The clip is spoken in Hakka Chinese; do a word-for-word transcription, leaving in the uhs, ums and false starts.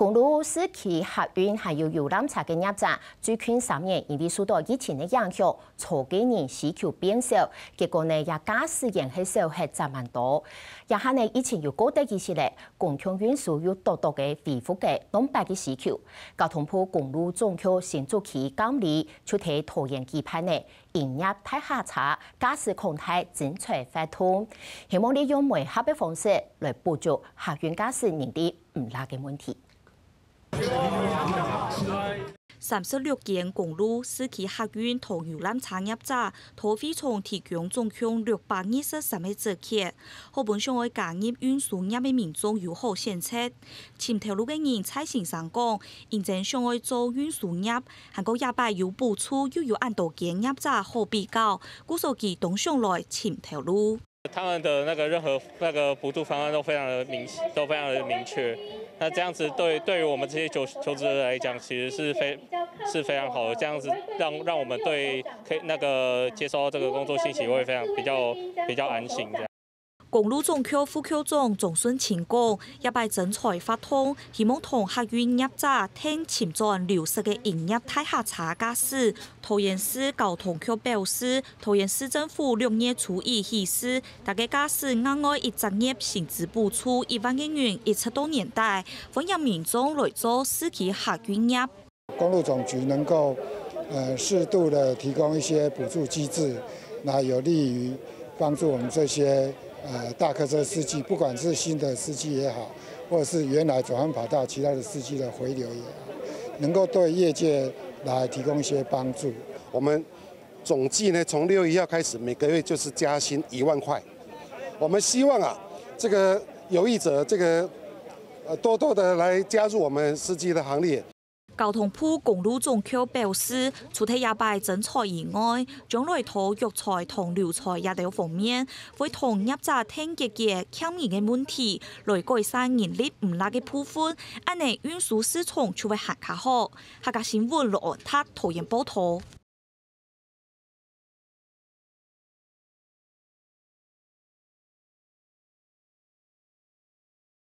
公路、市區客運還有遊覽車个業者，最近三年因為受到疫情个影響，坐个人需求變少，結果呢，也駕駛員係少忒十萬多。這下呢，疫情又過忒一息咧，公共運輸又多多个恢復个當擺个需求。交通部公路總局新竹區監理就在桃園舉辦呢， 營業大客車駕駛康泰徵才活動，希望利用媒合个方式來補足客運駕駛人力毋罅个問題。三十六間公路、市區客運同遊覽車業者，都會場提供總共六百二十三个折扣，好分想愛加入運輸業个民眾有好選擇。尋頭路个人蔡先生講，因為想愛做運輸業， 還過這擺有補助又有恁多間業者好比較，故所佢當想來尋頭路。他們的那個任何那個補助方案都非常的明，都非常的明確。那這樣子對，對於我們這些求，求職者來講，其實是非，是非常好的。這樣子讓，讓我們對可以那個接受到這個工作信息會非常比較，比較安心這樣。 公路總局副局長鍾順清講，這擺徵才活動，希望同客運業者𢯭尋轉流失个營業大客車駕駛。桃園市交通局表示，桃園市政府六月初一起始，逐個駕駛額外一隻月薪資補助一萬個銀，一直到年底，歡迎民眾來做市區客運業。 公路總局能夠，呃，適度地提供一些補助機制，那有利於幫助我們這些，呃，大客車司機，不管是新的司機也好，或者是原來轉換跑道其他的司機的回流也好，能夠對業界來提供一些幫助。我們總計呢，從六月一號開始，每個月就是加薪一萬塊。我們希望啊，這個有意者，這個，呃，多多地來加入我們司機的行列。 交通部公路總局表示，除忒這擺徵才以外，將來在育才同留才這兜方面，會同業者𢯭解決欠人个問題，來改善人力毋罅个部分，恁呢運輸市場就會還較好。客家新聞羅安達桃園報導。